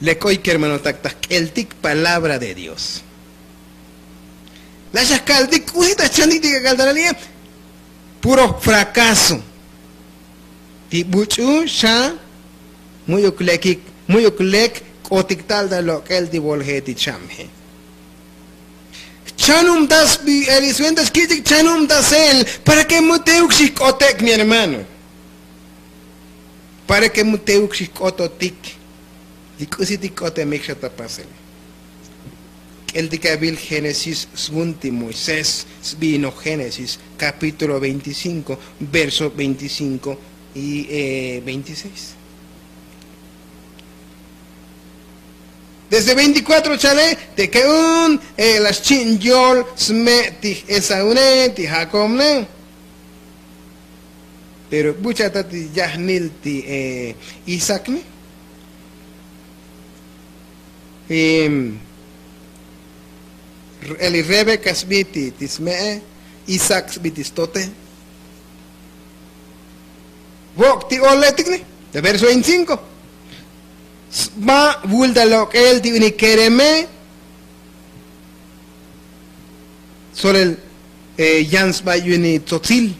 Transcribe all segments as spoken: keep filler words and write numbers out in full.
Lek oy kermanotak ta jk'eltik palabra de dios. La xa jka'ltik k'usi ta jchantik ti k'ak'al ta la li'e. Puro fracaso. Ti buch'u xa mu'yuk lekik, mu'yuk lek k'otik tal ta lok'el ti volje ti chamje. Jchanubtas bi elisventa xkich'ik jchanubtas el para ke mu teuk xijk'otek mi hermano. Para ke mu teuk xijk'ototik li k'usi ti k'otemik xa ta pasele. K'eltik avil génesis svun ti moisés sbi'inoj génesis kapítulo veinticinko verso veinticinko y veintiseis. Desde veinticuatro chale te ke un la xchi'n yol sme' ti esaune ti jakob ne. Pero bucha ta ti yajnil ti isaac ne. Eli rebeca sbi ti sme'e, isaac sbi ti stote. Vok' ti oletik ne ta verso veinticinko. Sba vul ta lok'el ti uni kereme. Solel yan sba yu ni tzotzil.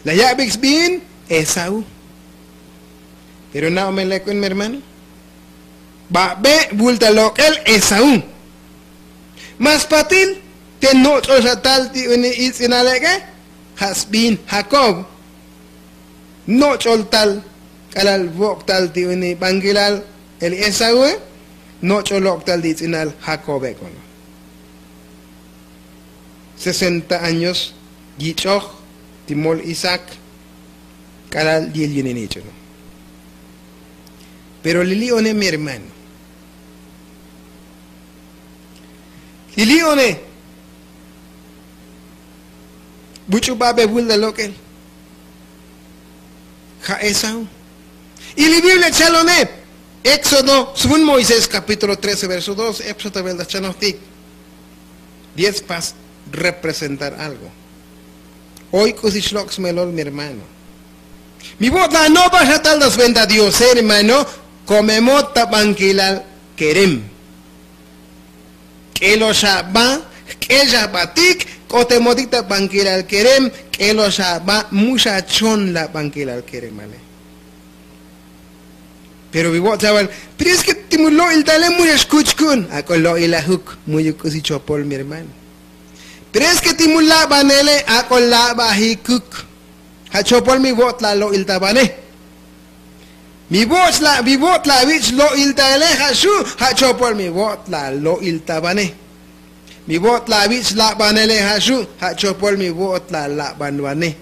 La ya'bik sbi'in esaú. Pero na'o me lek'un mi hermano. Ba'be' vul ta lok'el esaú. Ma spatil te noch'ol xa tal ti uni itz'inal ek'e. Ja' sbi'in jakob. Noch'ol tal k'alal vok' tal ti uni bankilal el esaúe. Noch'ol lok' tal ti itz'inal jakobe k'ono. Sesenta años yich'oj ti mol isaac. K'alal yil yuninich'uno. Pero li li'one mi hermano, li li'one buch'u ba'be vul ta lok'el. Ja' esaú. Y li biblia chalone éxodo svun moisés kapítulo trece verso doce epsotavel ta chanojtik. Diez pas representar algo. Oy k'usi xlok' smelol mi hermano. Mi vo'ot la anobaj xa tal ta sventa diose hermano. Komemot ta bankilal kerem. K'elo xa ba jk'el xa batik k'otemotik ta bankilal kerem. K'elo xa ba mu xa chon la bankilal keremale. Pero vi vo'ot xa bal. Pero es ke ti mu lo'il tale mu xa xkuch ku'un ak'o lo'il ajuk mu'yuk k'usi chopol mi hermano. Pero es ke ti mu labanele ak'o labajikuk. Ja' chopol mi vo'ot la lo'il ta bane. Mi vo'ot la vi vo'ot la vich' lo'il ta ele ja' xu' ja' chopol mi vo'ot la lo'il ta bane. Mi vo'ot la vich' labanele ja' xu' ja' chopol mi vo'ot la laban bane.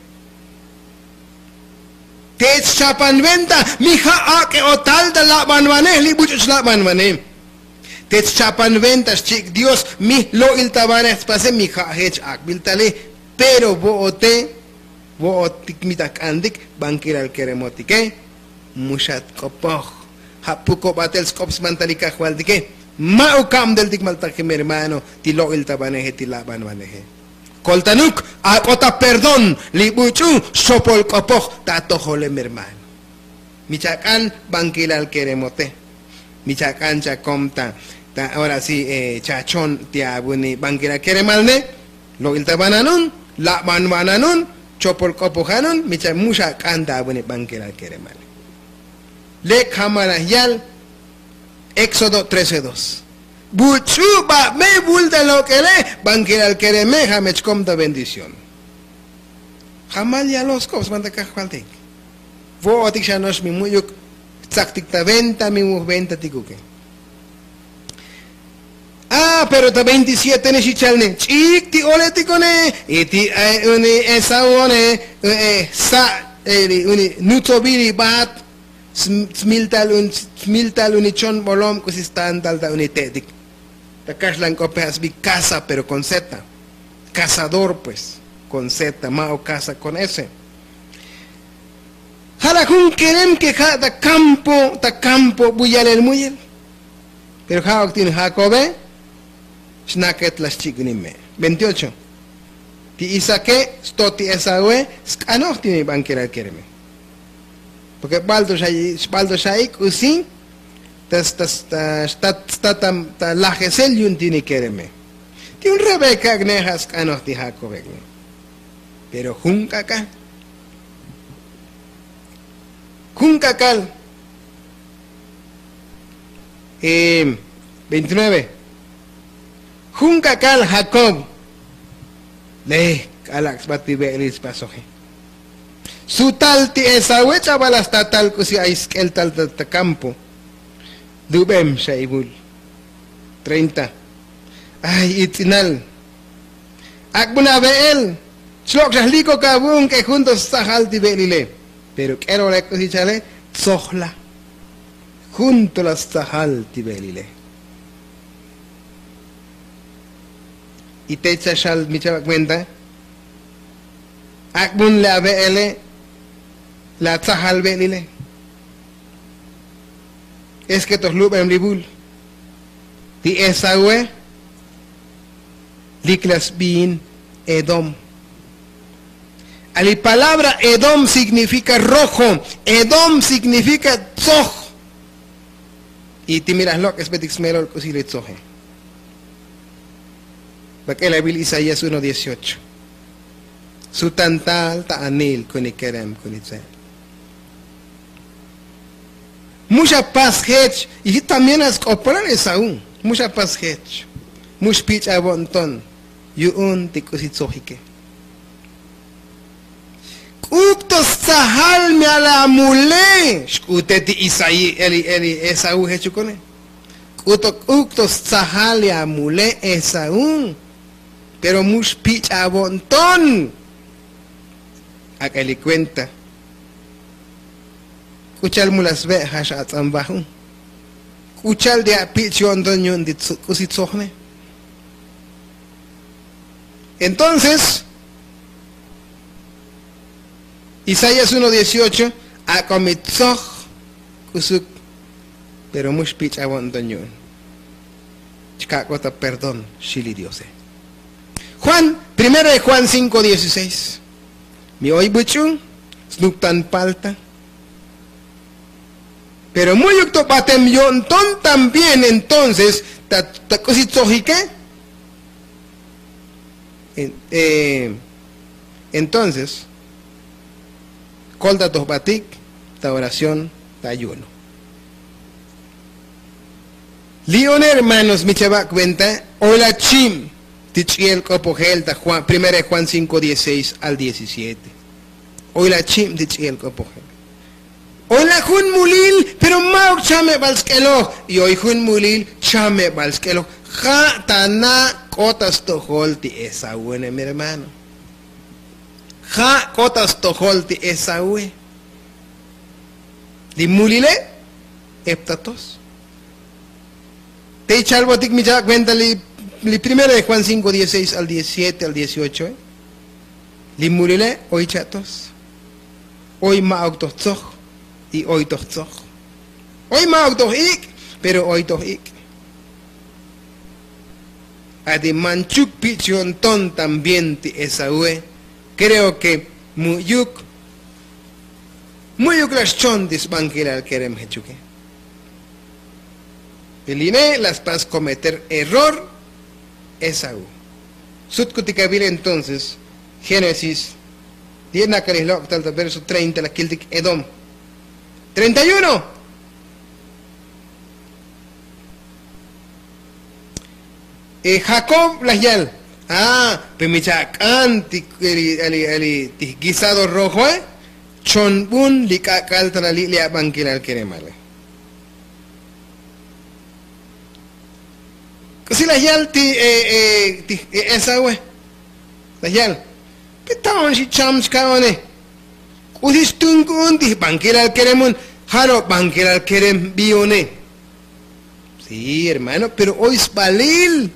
Te chchapan venta mi ja' ak'e otal ta laban bane li buch'u chlaban bane. Te chchapan venta xchi'ik dios mi lo'il ta bane jtpase mi ja' jech ak'bil tale. Pero vo'ote vo'otik mi ta jk'antik bankilal keremotike. Mu xa tk'opoj. Ja' puko batel sk'op smantal li kajvaltike. Ma' u kabdeltik maltajke mi hermano ti lo'il ta baneje ti laban baneje. Koltanuk ak'o ta perdón li buch'u xchopol k'opoj ta atojole mi hermano. Mi chak'an bankilal keremote. Mi chak'an chakom ta ta ora si chachon ti avuni bankilal keremal ne. Lo'il ta bananun laban bananun chopol k'opoj anun mi cha mu xak'an ta avuni bankilal keremal. Lek jamal aj yal éxodo trece dos. Buch'u ba'be vul ta lok'ele bankilal kereme ja' me chkom ta bendición. Jamal yaloj sk'op sban ta kajvaltik. Vo'otik xa no'ox mi mu'yuk jtzaktik ta venta mi vuj venta tikuke. A pero ta veintisiete ne xi chal ne ch'ik ti oletikone y ti uni esaúone. Sa' uni nutsobil li bat smiltal uni chon bolom k'usi stan tal ta uni te'tik. Ta kaxlan k'ope ja' sbi kaza pero kon zeta. Kazador pues kon zeta ma' o kaza kon ese. Ja' la jun kerem ke ja' ta kampo ta kampo bu yalel muyel. Pero ja' ok ti uni jakobe xnaket la xchi'ik uni me'. Veintiocho. Ti isaake stot ti esaúe sk'anoj ti uni bankilal kereme. Porke bal to xa'i' bal to xa'i' k'usi ta ta ta ta lajesel yu'un ti' nikereme. Ti un rebeka k'ne ja' sk'anoj ti jakobe k'ne. Pero jun k'ak'al jun k'ak'al veintinueve. Jun k'ak'al jakob lek k'alak' sba ti ve'elil spasoje. Su tal ti esaue ch'abal la statal k'usi ay sk'el tal ta kampo. Lubem xa ivul. Treinta. Ay itz'inal. Ak'bun ave'el. Chlok' xa jlikok avu'un k'e jun to stsajal ti ve'elile. Pero k'elole k'usi chale tzojla. Jun to la stsajal ti ve'elile. Y te chaxal mi chava' cuenta. Ak'bun le ave'ele la tsajal ve'elile. Es ke to jlubem li vul ti esaue. Lik la sbiin edom. Ali palabra edom signifika rojo. Edom signifika tzoj. Y ti mi laj lok'esbetik smelol k'usi li tzoje. Bak'el avil isaías uno dieciocho. Su tantal ta anil kuni kerem kuni tze. Mu xapas jech. Y también a sk'opolan esaú mu xapas jech. Mu xpich'avo'nton yu'un ti k'usi tzojike. K'uk' to stsajal mi ala mule xk'ute ti isaí eli eli esaú jechukone. K'uto k'uk' to stsajal ya mule esaú. Pero mu xpich'avo'nton. Ak'eli kuenta. K'u cha'al mu la sbe' ja' xa atz'anbaju. K'u cha'al ti apich' yo'nton yu'un ti k'usi tzojne. Entonces isaías uno dieciocho. Ak'o mi tzoj k'usuk. Pero mu xpich'avo'nton yu'un. Chkak'o ta perdón xi li diose. Juan primero de juan cinko dieciseis. Mi oy buch'u snuktan palta. Pero mu'yuk to batem yo'nton también entonces ta k'usi tzojike. Entonces kolta to jbatik ta oración ta ayuno. Li'one hermanos mi chava' cuenta. Oy la chib ti ch'i'el k'opojel ta primera de juan cinko dieciseis al diecisiete. Oy la chib ti ch'i'el k'opojel. Oy la jun mulil pero ma'uk chamebal sk'eloj. Y oy jun mulil chamebal sk'eloj. Ja' ta na' k'o ta stojol ti esaúne mi hermano. Ja' k'o ta stojol ti esaúe. Li mulile ep ta tos. Te ichalbotik mi chava' cuenta li primero de juan cinko dieciseis al diecisiete al dieciocho. Li mulile oy cha' tos. Oy ma'uk toj tzoj. Y oy toj tzoj. Oy ma'uk toj ik'. Pero oy toj ik'. Ati manchuk pich' yo'nton también ti esaúe. Kreo ke mu'yuk mu'yuk la xchon ti sbankilal kerem jechuke. Eline la spas kometer error. Esaú. Sutkutik avil entonces génesis. Di'e nakalij lok'tal ta verso treinta la kiltik edom. Treinta y uno. Jakob laj yal. A pe mi chak'an ti guisado rojoe. Chonbun li k'ak'al ta la li' li abankilal keremale. K'usi laj yal ti esaue? Laj yal. Pe ta'on xi cham chka'one? K'usi xtun ku'un ti jbankilal kerem un. Jalo' bankilal kerem bione. Sí hermano pero oy sbalil.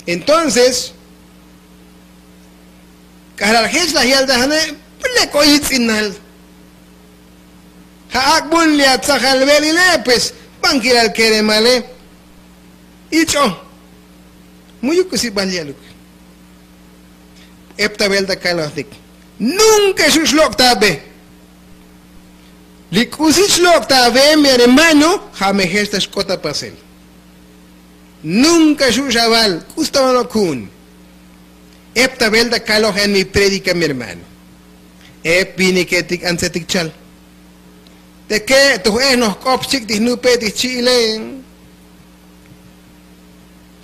Entonces k'ajlal jech laj yal ta jane'. Lek oy itz'inal. Ja' ak'bun li atzajal ve'lile pues bankilal keremale. Ich'o. Mu'yuk k'usi bal yaluk. Ep ta ve'el ta kalojtik. Nunka xu' xlok' ta be. K'usi chlok' ta ave' mi hermano, ja' me jex ta xk'ot ta pasel. Nunka xu' xaval k'usi ta onok ju'un. Ep ta bel ta kalojen mi predika mi hermano. Ep viniketik antsetik chal. Teke' toj ej noj k'op xchik' ti jnupe' ti jchi'ile.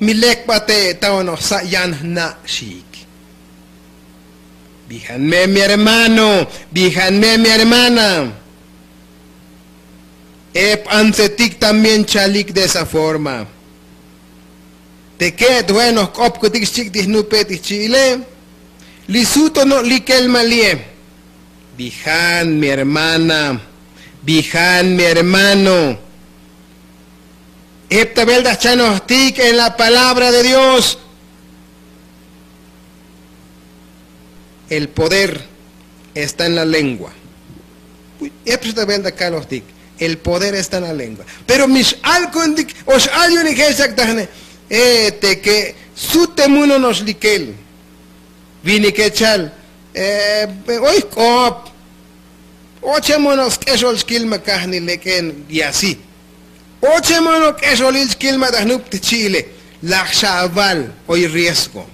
Mi lek bate' ta onoj sa' yan jna' xiik. Bijan me mi hermano, bijan me mi hermana. Ep antsetik también chalik de esa forma. Teke' toj ej noj k'opkutik xchik' ti jnupe' ti jchi'ile. Li suto no' likel ma li'e. Bijan mi hermana, bijan mi hermano. Ep ta bel ta jchanojtik en la palabra de Dios. El poder está en la lengua. Ep ta bel ta kalojtik. El poder está en la lengua. Pero mi x'al ku'untik o x'al yu'unik jech yak tajne. Teke' sute muno no'ox likel. Vinike chal oy jk'op. Oche mono' sk'exol xkil ma kajni lek'en y asi. Oche mono' k'exolil xkil ma ta jnup ti jchi'ile. Laj xa aval oy riesgo.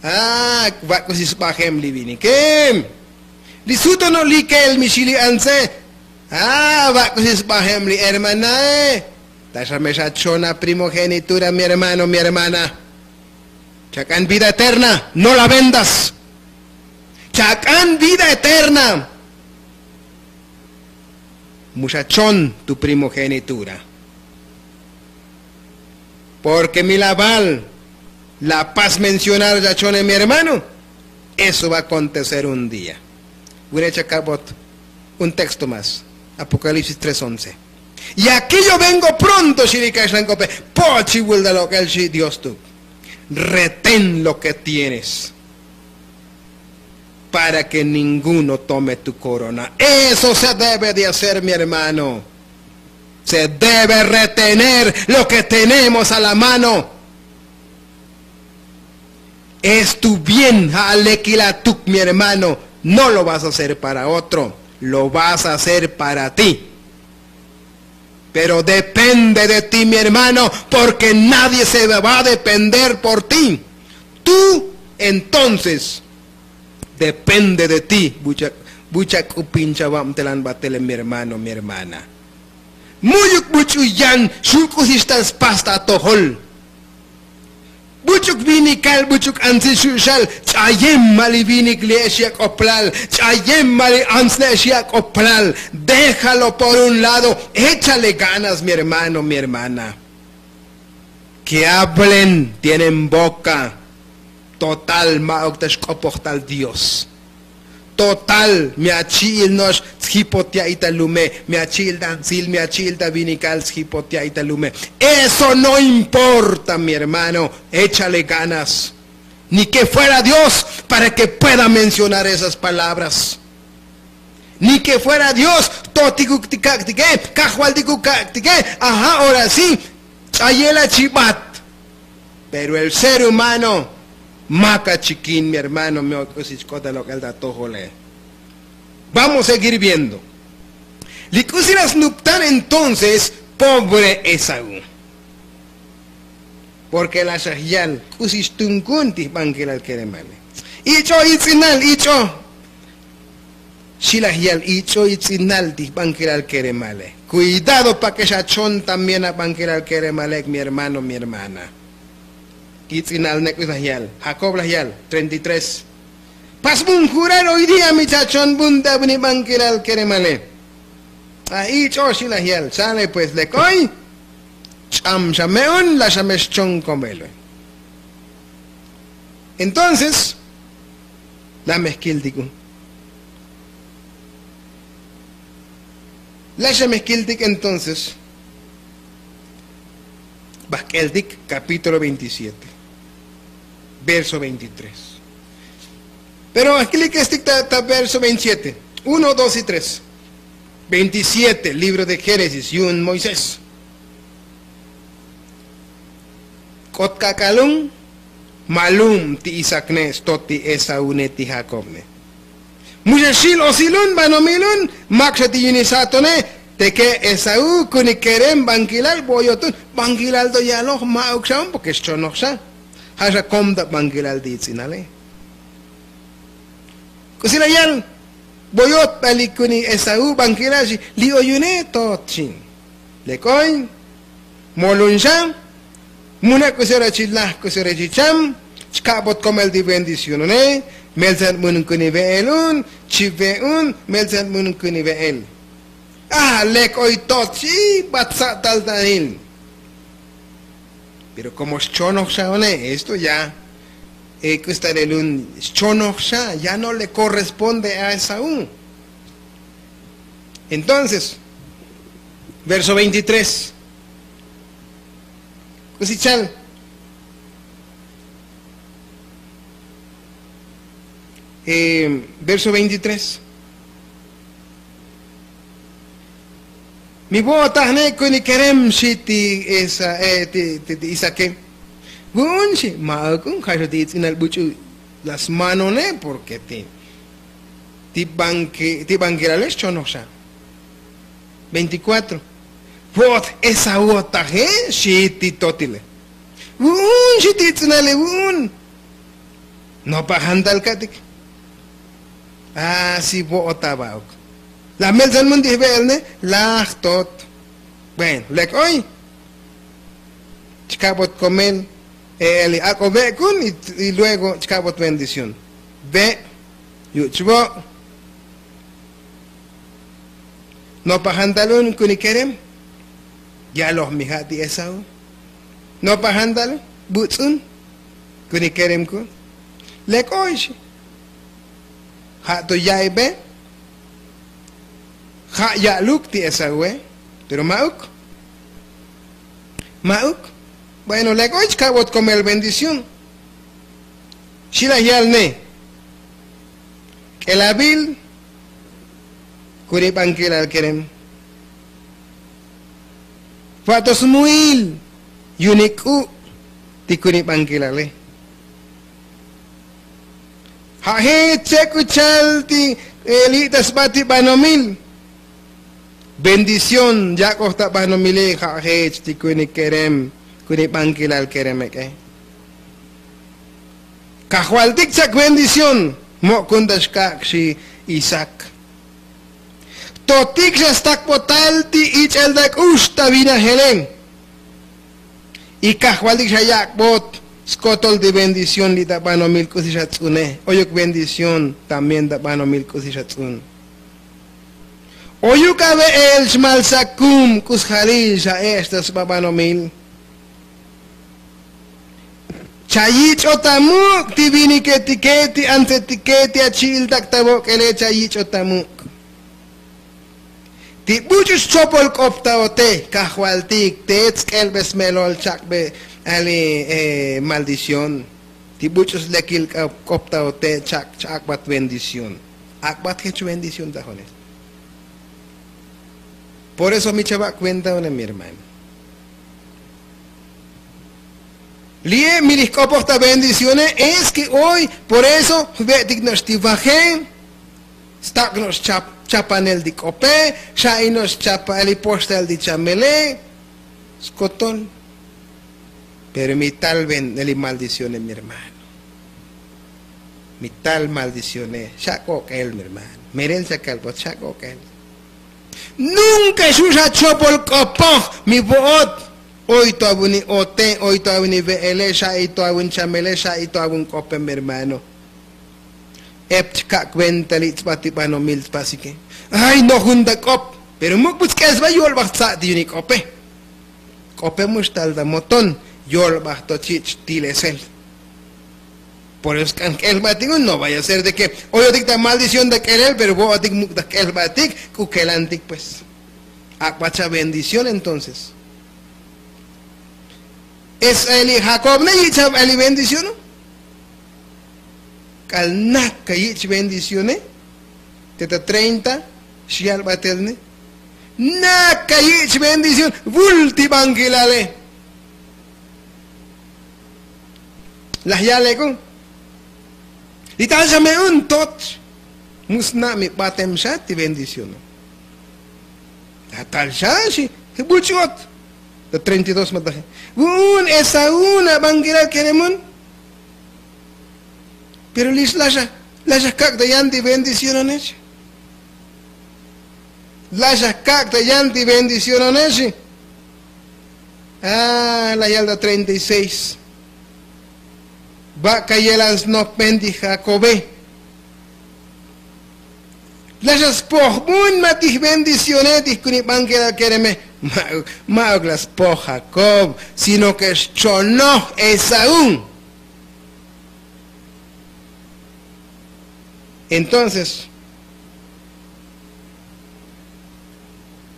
A va' k'usi sbajem li vinike. Li suto no' likel mi xili antse. A va' k'usi sbajem li hermanae. Ta xa me xachona primogenitura mi hermano mi hermana. Chak'an vida eterna no la vendas. Chak'an vida eterna. Mu xachon tu primogenitura. Porke mi laval la pas mencionar chachone mi hermano. Eso va akontecer un día. Wire chakabot un texto mas. Apokalipsis tres once. Y akí yo vengo pronto xili kaxlan k'ope. Pochi vuldal ok'el xi dios tu. Retén lo ke tienes para ke ninguno tome tu korona. Eso se debe de hacer mi hermano. Se debe retener lo ke tenemos a la mano. Es tu bien ja' alekil atuk mi hermano. No lo vas a hacer para otro. Lo vas a hacer para ti. Pero depende de ti mi hermano. Porke nadie se va a depender por ti. Tú entonces depende de ti. Bucha' k'upin chavabtelan batele mi hermano mi hermana. Mu'yuk buch'u yan xu' k'usi xtal spas ta atojol. Buch'uk vinikal buch'uk antsil xu' xal. Ch'ayem ma' li vinik li ex yak'oplal. Ch'ayem ma' li antsil ex yak'oplal. Déjalo por un lado. Échale ganas mi hermano mi hermana. Ke hablen tienen boka. Total ma'uk ta xk'opojtal dios. Total mi achi'il no'ox tsjipot ya'i ta lume. Mi achi'il ta antsil mi achi'il ta vinikal tsjipot ya'i ta lume. Eso no importa mi hermano. Échale ganas. Ni ke fuera dios para ke pueda mencionar esas palabras. Ni ke fuera dios. Totikuk ti kak'tike. Kajvaltikuk kak'tike. Ajá ora si ch'ayela chibat. Pero el ser humano maka chikin mi hermano mi ok'usi chk'otal ok'el ta atojole. Vamos seguir viendo. Li k'usi la snuptan entonces pobre esaú. Porke la xa jyal k'usi xtunkun ti jbankelal keremale. Ich'o itz'inal ich'o. Xi la jyal ich'o itz'inal ti jbankelal keremale. Kuidado pake xachon también abankelal keremale mi hermano mi hermana. Itz'inal nek'us la jyal jakob la jyal treinta y tres. Pasbun jurar oy día mi chachon bun ta bni bankelal keremale. A ich'o xi la jyal sale pues lek oy. Ch'am xa me'un la xa me xchon komel oy. Entonces la me jkiltik un. La xa me jkiltik entonces. Bajk'eltik kapítulo veintisiete verso veintitrés. Pero ajkilikestik ta verso veintisiete. Uno dos y tres. Veintisiete libro de génesis yu'un moisés. K'ot k'ak'alun. Malum ti isakne' stot ti esaune ti jakobne. Mu xa xil osilun banomilun. Mak xa ti yunisatone. Teke esaú kuni kerem bankilal boyotun bankilal to yaloj ma'uk xaun porke xchonoj xa. Ja' xa kom ta bankilal ti itz'inale. K'usi la yal boyot bali kuni esaú bankilal xi. Li oyune tot xin. Lek oy molun xa. Muna k'usi ora chi laj k'usi ora chi cham. Chka'bot komel ti bendicionone. Meltzan bun kuni ve'el un. Chi ve' un meltzan bun kuni ve'el. A lek oy tot xi bat sa' tal tanil. Pero komo xchonoj xa one esto ya k'usi ta lelun xchonoj xa ya no le korresponde a esaú. Entonces verso veintitrés. K'usi chal verso veintitrés. Mi vo'otajne kuni kerem xi ti isake. Vu'un xi ma'uk un ja' xa ti itz'inal buch'u las manone porke ti ti bankilale xchonoj xa. Veinticuatro. Vo'ot esaú otaje xi ti totile. Vu'un xi ti itz'inale vu'un. Nopa jantal ka'tik. A si vo'ot aba'uk. Laj meltzan mun ti jve'elne. Laj tot. Bueno lek oy. Chkabot komel e'el ak'o ve'kun. Y luego chkabot bendición. Ve' yuch vo'. Nopa jantal un kuni kerem. Yaloj mi ja' ti esaú. Nopa jantal butz'un kuni kerem kun. Lek oy xi. Ja' to ya'ibe. Ja' ya'luk ti esaúe. Pero ma'uk. Ma'uk. Bueno lek oy chkabot komel bendición. Xi laj yal ne. K'elavil kuni bankilal kerem. Va'to smuil yunik k'u' ti kuni bankilale. Ja' jech che' k'u chal ti li' ta sba ti banomil. Bendición yak'oj ta banomile ja' jech ti kuni kerem kuni bankilal kerem ek'e. Kajvaltik chak bendición. Mo' kun ta xkak' xi isak. Totik xa stakbotal ti ich'el ta k'ux ta vinajele. Y kajvaltik xa yak'bot skotol ti bendición li' ta banomil k'usi xa tz'une. Oyuk bendición también ta banomil k'usi xa tz'un. Oyuk ave'el xmalsakum k'usjalil xa ech' ta sba banomil. Chayich'ot amuk' ti viniketike ti antsetike ti achi'iltak ta vok'ele chayich'ot amuk'. Ti buch'u xchopol k'op ta ote kajvaltik te tsk'elbe smelol chak'be ali. Maldición. Ti buch'u slekil k'op ta ote chak' chak'bat bendición. Ak'bat jech bendición ta jone. Por eso mi chava' kuenta one mi hermano. Li'e mi lij k'opoj ta bendicione. Es ke oy por eso jve'tik no'ox ti vaje. Stak' no'ox chapanel ti k'ope. Xa'i no'ox chapal li poxtal ti chamele. Skotol. Pero mi tal li maldicione mi hermano. Mi tal maldicione xa' k'ok'el mi hermano. Merel xa kalbot xa' k'ok'el. Nunka xu' xa chopol k'opoj mi vo'ot. Oy to avuni ote oy to avuni ve'ele xa'i to avun chamele xa'i to avun k'ope mi hermano. Ep chka' kuenta li' tsba ti banomil tpasike. Ay nojun ta k'op. Pero muk' bu tsk'el sba yolbaj tsa' ti yunik k'ope. K'ope mu xtal ta moton yolbaj to chich' tilesel. Por eso sk'an jk'elbatik un no vaya a ser de ke oyotik ta maldición ta k'elel pero vo'otik muk' ta jk'elbatik k'u kelantik pues. Ak'bat xa bendición entonces. Es ali jacob ne yich' xa ali bendición. K'al nak ka yich' bendición e. Te ta treinta xyal batel ne. Nak ka yich' bendición. Vul ti bankilale. Laj yale k'u li tal xa me un tot. Mu sna' mi batem xa ti bendición. Tal xa xi. Buch'ot. Ta treinta y dos mataje. Vu'un esaú na bankeral keremun. Pero lix laxa laxa kak' ta yan ti bendiciononex. Laxa kak' ta yan ti bendiciononex. Laj yal ta treinta y seis. Bak' ka yelan snopben ti jakobe. Laxa spojbun ma ti jbendicione ti jkunibankeral kereme. Ma'uk la spoj jakob, sino ke xchonoj esaú. Entonces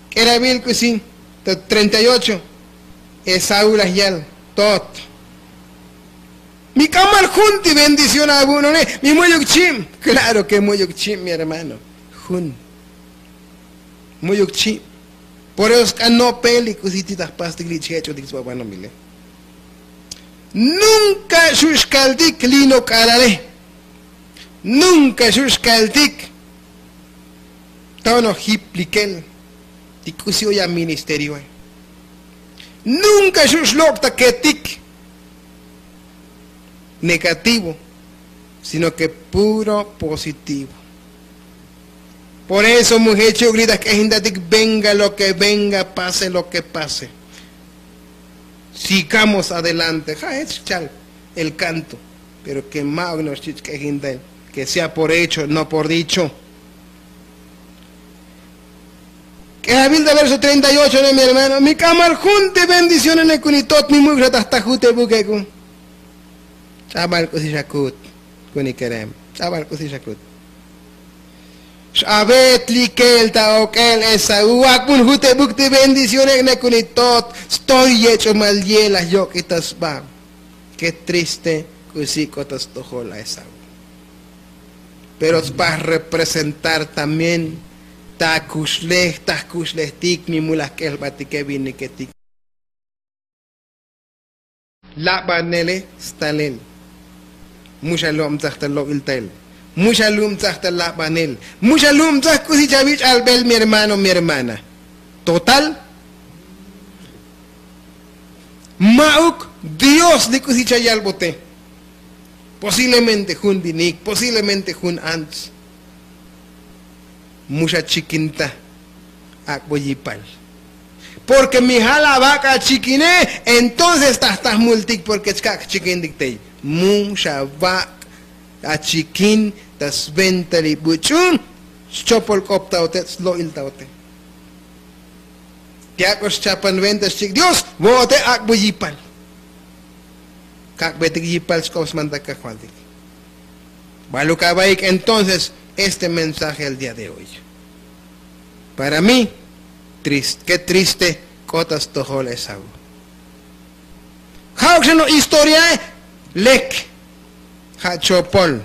k'erabil k'usi ta treinta y ocho. Esaú laj yal, tot, mi k'amal jun ti bendición avu'none. Mi mu'yuk chib. Klaro ke mu'yuk chib mi hermano. Jun mu'yuk chib. Por eso sk'an no'pel li k'usi ti ta jpastik li chjech'otik sba banomile. Nunka xu' xkaltik lino k'alale. Nunka xu' xkaltik. Tono jip likel ti k'usi oy aministerioe. Nunka xu' xlok' ta ketik negativo, sino ke puro positivo. Por eso mu jechu'uk li ta jk'ejintatik venga lo ke venga, pase lo ke pase, sigamos adelante. Ja' jech chal el kanto. Pero ke ma'uk no'ox chich' k'ejintael ke sea por hecho no por dicho. K'ejabil ta verso treinta y ocho ne mi hermano, mi k'amal jun ti bendicionone kuni tot mi mu'uk xa ta jta jutebuk ek'u. Ch'abal k'usi xa kut kuni kerem. Ch'abal k'usi xa kut. X'avet likel ta ok'el esaú ak'bun jutebuk ti bendicionek ne kuni tot. Stoy yech'omal ye laj yok'ita sba. Ke triste k'usi k'ota stojol a esaú. Pero sba representar también ta kuxlej ta jkuxlejtik mi mulaj k'elbatike viniketik. Labanele stalel. Mu xa lubtsaj ta lo'iltael. Mu xa lubtsaj ta labanel. Mu xa lubtsaj k'usi chavich'albel mi hermano mi hermana. Total, ma'uk dios li k'usi chayalbote. Posiblemente jun vinik, posiblemente jun ants. Mu xa chikinta. Ak'bo yipal. Porke mi ja' la vak' achikine. Entonces ta jta jmultik porke chkak' jchikintik tey. Mu xa vak' achikin ta sventa li buch'u. Xchopolk'optaote slo'iltaote. Ti ak'o xchapan venta xchik dios vo'ote ak'bo yipal. Kak'betik yipal xk'op smanta kajvaltik. Baluk avaik entonces este mensaje el día de hoy. Para mí ke triste k'ota stojol esaú. Ja'uk xa no' historiae. Lek ja' chopol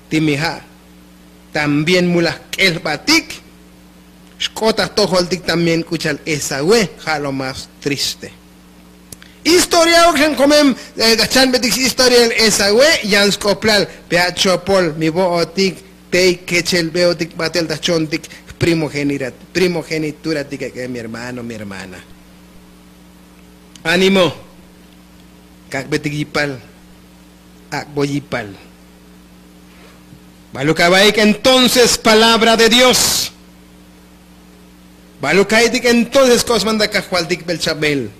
ti mi ja' también mulaj k'elbatik. Xk'ota jtojoltik también k'u chal esaúe. Ja' lo más triste. Historiaok xan komem ta jchanbetik xhistoriael esaúe. Yan sk'oplal pe ja' chopol mi vo'otik tey kechelbeotik batel ta jchontik jprimogenituratike mi hermano mi hermana. Animo. Kak'betik yipal. Ak'bo yipal. Baluk avaik entonces palabra de dios. Baluk ka'aytik entonces k'o smanta kajvaltik bel chabel.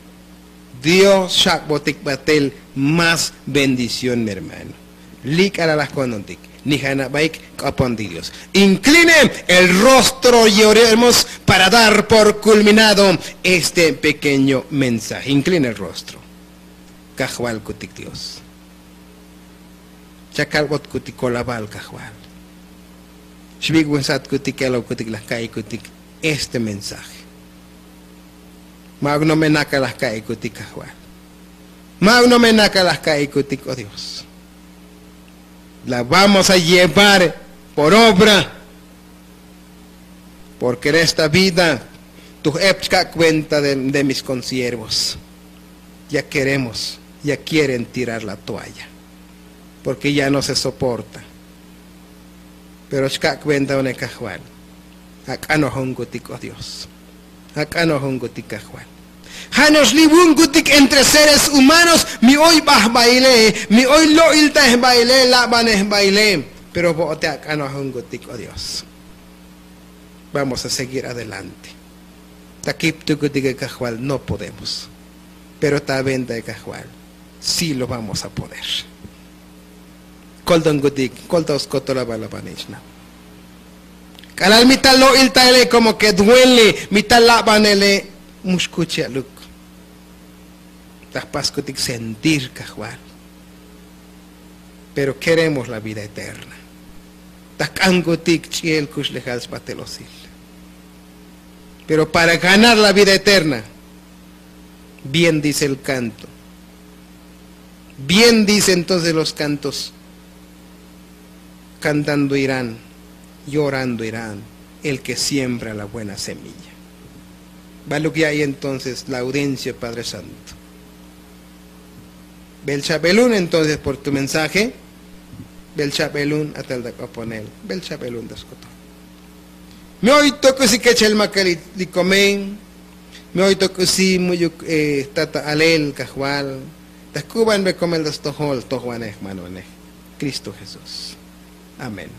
Dios xak'botik batel más bendición mi hermano. Li' k'alalaj ko'ntontik. Ni ja' nabaik k'opontik dios. Incline el rostro y oremos para dar por kulminado este pequeño mensaje. Incline el rostro. Kajvalkutik dios. Chakalbotkutik kolabal kajval. Xvik'vensatkutik kelobkutik laj ka'ikutik este mensaje. Ma'uk no' me nakal laj ka'ikutik kajval. Ma'uk no' me nakal laj ka'ikutik o dios. La vamos a llevar por obra. Porke en esta vida tuj ep chka' kuenta de mis konsiervos ya keremos ya kieren tirar la toalla. Porke ya no se soporta. Pero xkak' ventaone kajval. Ak'anojonkutik o dios. Ak'anojonkutik kajval. Ja' no'ox li' vunkutik entre seres humanos mi oy bajbaile, mi oy lo'iltajbaile labanejbaile. Pero vo'ote ak'anojonkutik o dios. Vamos a seguir adelante. Ta kiptukutike kajval no podemos. Pero ta venta e kajval si lo vamos a poder. Koltonkutik kolta oskotol avalavanixna. K'alal mi ta lo'iltaele komo ke duele mi ta labanele. Mu xkuch ya'luk. Ta jpaskutik sentir kajval. Pero keremos la vida eterna. Ta jk'ankutik ch'iel kuxlejal sbatel osil. Pero para ganar la vida eterna. Bien dice el kanto. Bien dice entonces los kantos. Kantando irán, llorando irán el ke siembra la buena semilla. Baluk ya'iy entonces la audencia padre santo. Bel chabelun entonces por tu mensaje. Bel chabelun atal ta k'oponel. Bel chabelun ta sk'oton. Mi oy tok'usi kechel makalil li komen. Mi oy tok'usi mu'yuk tata alel kajval. Ta jk'ubanbe komel ta stojol tojvanej jmanonej. Kristo jesús. Amén.